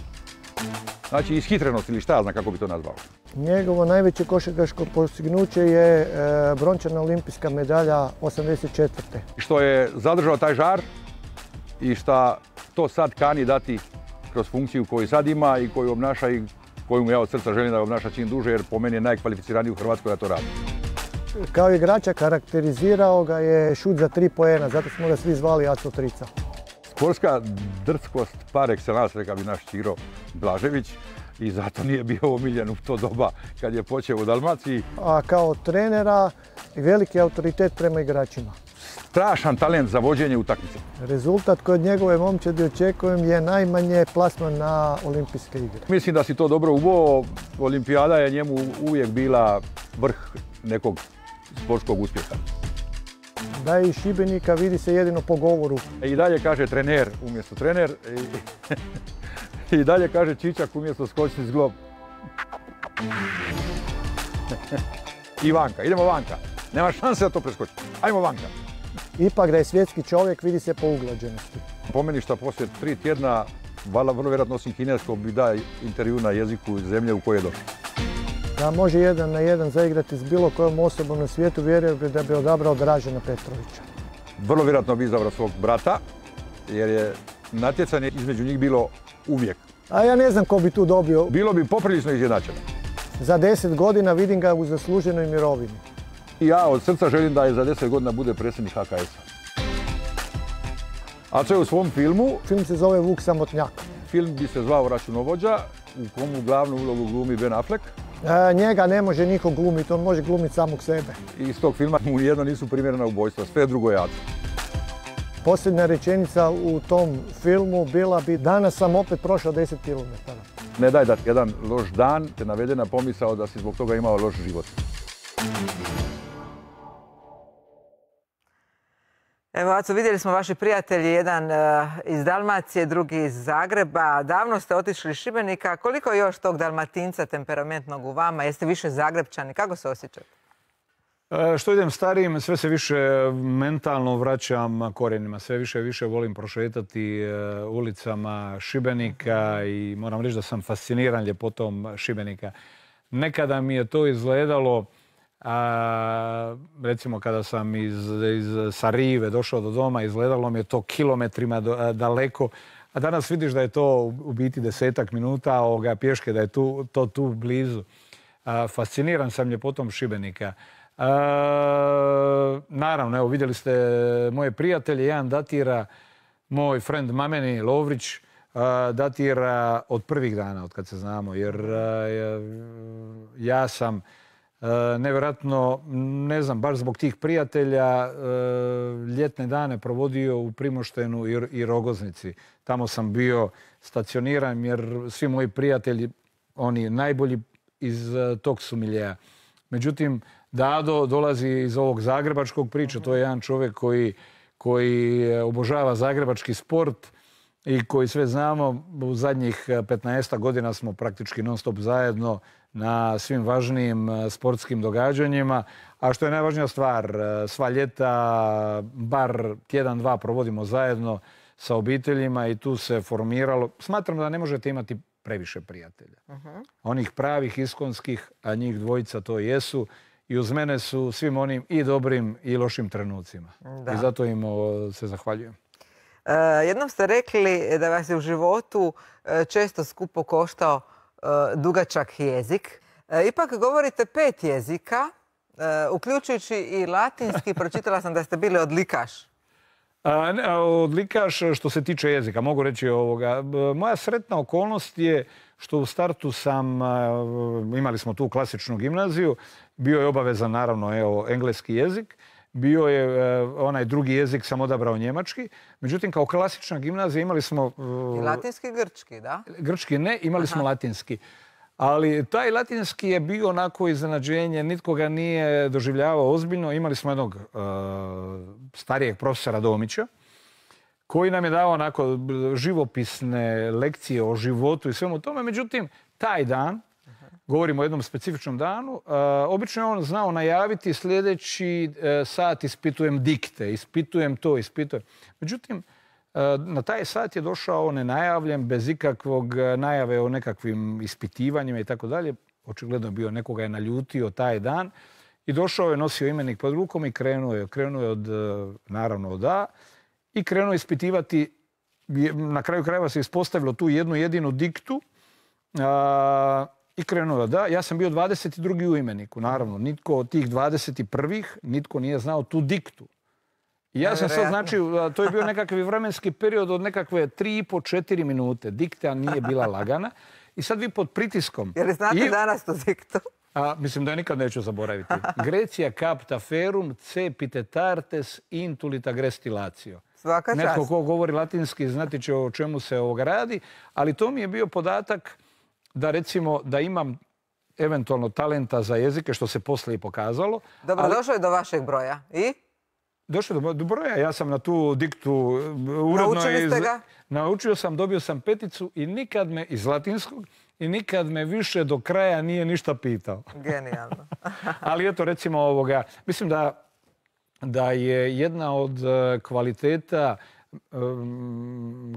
Znači, ishitrenost ili šta zna kako bi to nazvao. Njegovo najveće košarkaško postignuće je e, brončana olimpijska medalja osamdeset četvrte. Što je zadržao taj žar i šta to sad kani dati kroz funkciju koju sad ima i koju obnaša i koju mu ja od srca želim da obnaša čim duže, jer po meni je najkvalificiraniji u Hrvatskoj da to radi. Kao igrača karakterizirao ga je šut za tri poena, zato smo ga svi zvali Aco Trica. Sportska drskost par excellence, rekao bi naš Ćiro Blažević, i zato nije bio omiljen u to doba kad je počeo u Dalmaciji. A kao trenera veliki autoritet prema igračima. Strašan talent za vođenje utakmice. Rezultat kod njegove momčadi očekujem je najmanje plasman na olimpijske igre. Mislim da si to dobro uveo. Olimpijada je njemu uvijek bila vrh nekog sportskog uspjeha. Da je iz Šibenika, vidi se jedino po govoru. I dalje kaže trener umjesto trener. I, i dalje kaže Čičak umjesto skočni zglob. I Vanka, idemo Vanka. Nema šanse da to preskoči. Ajmo Vanka. Ipak da je svjetski čovjek, vidi se po uglađenosti. Po meni što poslije tri tjedna, vrlo vjerojatno osim kineskog, bi da intervju na jeziku zemlje u kojoj je došao. Da može jedan na jedan zaigrati s bilo kojom osobom na svijetu, vjerujem bi da bi odabrao Dražena Petrovića. Vrlo vjerojatno bi izabrao svog brata, jer je natjecanje između njih bilo uvijek. A ja ne znam ko bi tu dobio. Bilo bi poprilično izjednačeno. Za deset godina vidim ga u zasluženoj mirovini. Ja od srca želim da je za deset godina bude predsjednik H K S-a. Aco je u svom filmu. Film se zove Vuk Samotnjak. Film bi se zvao Računovođa, u komu glavnu ulogu glumi Ben Affleck. E, njega ne može niko glumiti, on može glumiti samog sebe. I iz tog filma mu nijedno nisu primjerena ubojstva, sve drugo je Aco. Posljednja rečenica u tom filmu bila bi: danas sam opet prošao deset kilometara. Ne daj da jedan loš dan te navede na pomisao da si zbog toga imao loš život. Evo, Aco, vidjeli smo vaši prijatelji, jedan uh, iz Dalmacije, drugi iz Zagreba. Davno ste otišli iz Šibenika. Koliko je još tog Dalmatinca temperamentnog u vama? Jeste više Zagrebčani? Kako se osjećate? E, što idem starijim, sve se više mentalno vraćam korijenima. Sve više i više volim prošetati e, ulicama Šibenika i moram reći da sam fasciniran ljepotom Šibenika. Nekada mi je to izgledalo, a, recimo kada sam iz, iz Sarive došao do doma, izgledalo mi je to kilometrima do, a, daleko. A danas vidiš da je to u biti desetak minuta ovoga pješke, da je tu, to tu blizu. A, fasciniran sam ljepotom Šibenika. E, naravno, evo, vidjeli ste moje prijatelje, jedan datira, moj friend Mameni Lovrić, e, datira od prvih dana, od kad se znamo, jer e, ja sam e, nevjerojatno, ne znam, baš zbog tih prijatelja, e, ljetne dane provodio u Primoštenu i, i Rogoznici. Tamo sam bio stacioniran jer svi moji prijatelji, oni najbolji iz e, tog su miljeja. Međutim, Dado dolazi iz ovog zagrebačkog priča, to je jedan čovjek koji, koji obožava zagrebački sport i koji sve znamo, u zadnjih petnaest godina smo praktički non stop zajedno na svim važnijim sportskim događanjima. A što je najvažnija stvar, sva ljeta, bar tjedan, dva provodimo zajedno sa obiteljima i tu se formiralo. Smatram da ne možete imati previše prijatelja. Uh-huh. Onih pravih, iskonskih, a njih dvojica to jesu. I uz mene su svim onim i dobrim i lošim trenucima. Da. I zato im se zahvaljujem. E, jednom ste rekli da vas je u životu često skupo koštao e, dugačak jezik. E, ipak govorite pet jezika, e, uključujući i latinski. Pročitala sam da ste bili odlikaš. A, ne, odlikaš što se tiče jezika, mogu reći ovoga. Moja sretna okolnost je što u startu sam, imali smo tu klasičnu gimnaziju, bio je obavezan naravno evo, engleski jezik, bio je onaj drugi jezik, sam odabrao njemački. Međutim, kao klasična gimnazija imali smo... I latinski i grčki, da? Grčki ne, imali smo Aha. latinski. Ali taj latinski je bio onako iznenađenje, nitko ga nije doživljavao ozbiljno. Imali smo jednog uh, starijeg profesora Domića, koji nam je dao onako živopisne lekcije o životu i svemu tome. Međutim, taj dan, govorimo o jednom specifičnom danu, uh, obično je on znao najaviti sljedeći uh, sat ispitujem dikte, ispitujem to, ispitujem. Međutim, na taj sat je došao nenajavljen, bez ikakvog najave o nekakvim ispitivanjima i tako dalje. Očigledno je bio, nekoga je naljutio taj dan. I došao je, nosio imenik pod rukom i krenuo je. Krenuo je od, naravno, od A. I krenuo ispitivati, na kraju krajeva se ispostavilo tu jednu jedinu diktu. A, I krenuo je od A. Ja sam bio dvadeset drugi u imeniku, naravno. Nitko od tih dvadeset prvih, nitko nije znao tu diktu. I ja sam sad, znači, to je bio nekakvi vremenski period od nekakve tri i po, četiri minute. Dikta nije bila lagana. I sad vi pod pritiskom... Je li znate I, danas tu diktu? A, mislim da je nikad neću zaboraviti. Grecia capta ferum, cepite tartes, intulita grestilatio. Svaka čast. Netko ko govori latinski znati će o čemu se ovoga radi. Ali to mi je bio podatak da, recimo, da imam eventualno talenta za jezike, što se poslije i pokazalo. Dobro, ali... došlo je do vašeg broja. I? Došlo do, do broja. Ja sam na tu diktu uredno... Naučili ste ga? Naučio sam, dobio sam peticu i nikad me iz latinskog i nikad me više do kraja nije ništa pitao. Genijalno. Ali eto, recimo ovoga, mislim da, da je jedna od kvaliteta,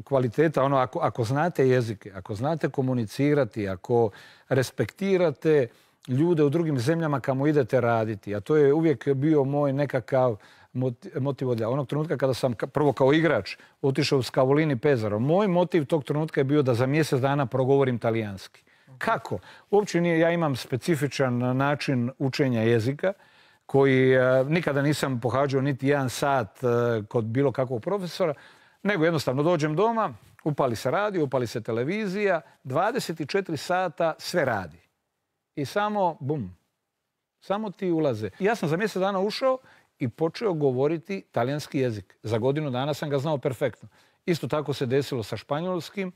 kvaliteta ono, ako, ako znate jezike, ako znate komunicirati, ako respektirate ljude u drugim zemljama kamo idete raditi, a to je uvijek bio moj nekakav motiv od onog trenutka kada sam prvo kao igrač otišao u Scavolini Pesaro. Moj motiv tog trenutka je bio da za mjesec dana progovorim talijanski. Kako? Uopće nije, ja imam specifičan način učenja jezika koji eh, nikada nisam pohađao niti jedan sat eh, kod bilo kakvog profesora, nego jednostavno dođem doma, upali se radio, upali se televizija, dvadeset četiri sata sve radi. I samo, bum, samo ti ulaze. Ja sam za mjesec dana ušao i počeo govoriti talijanski jezik. Za godinu dana sam ga znao perfektno. Isto tako se desilo sa španjolskim.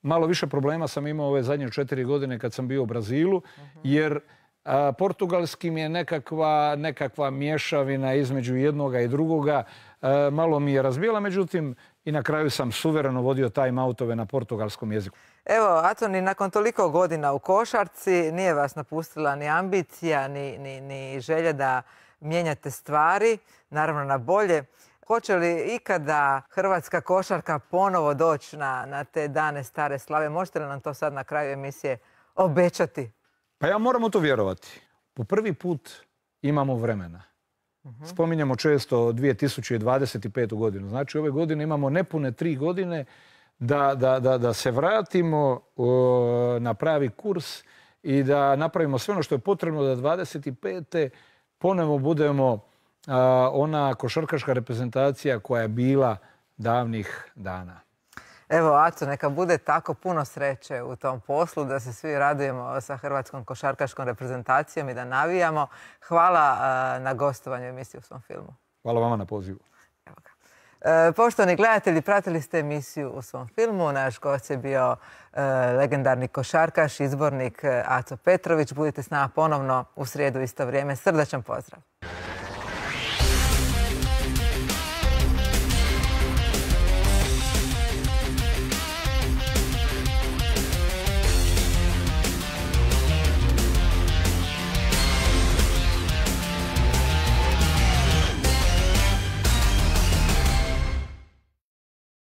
Malo više problema sam imao ove zadnje četiri godine kad sam bio u Brazilu, uh-huh. jer a, portugalski mi je nekakva, nekakva mješavina između jednoga i drugoga. A, malo mi je razbijala, međutim, i na kraju sam suvereno vodio time-outove na portugalskom jeziku. Evo, Atoni, nakon toliko godina u košarci nije vas napustila ni ambicija, ni, ni, ni želja da mijenjate stvari, naravno na bolje. Hoće li ikada hrvatska košarka ponovo doći na, na te dane stare slave? Možete li nam to sad na kraju emisije obećati? Pa ja moram u to vjerovati. Po prvi put imamo vremena. Uh-huh. Spominjemo često dvije tisuće dvadeset petu godinu. Znači ove godine imamo nepune tri godine da, da, da, da se vratimo o, na pravi kurs i da napravimo sve ono što je potrebno da dvadeset pete ponovo budemo a, ona košarkaška reprezentacija koja je bila davnih dana. Evo, Aco, neka bude tako, puno sreće u tom poslu, da se svi radujemo sa hrvatskom košarkaškom reprezentacijom i da navijamo. Hvala a, na gostovanju emisije U svom filmu. Hvala vama na pozivu. Evo ga. E, poštovani gledatelji, pratili ste emisiju U svom filmu. Naš gost je bio e, legendarni košarkaš, izbornik Aco Petrović. Budite s nama ponovno u srijedu isto vrijeme. Srdačan pozdrav.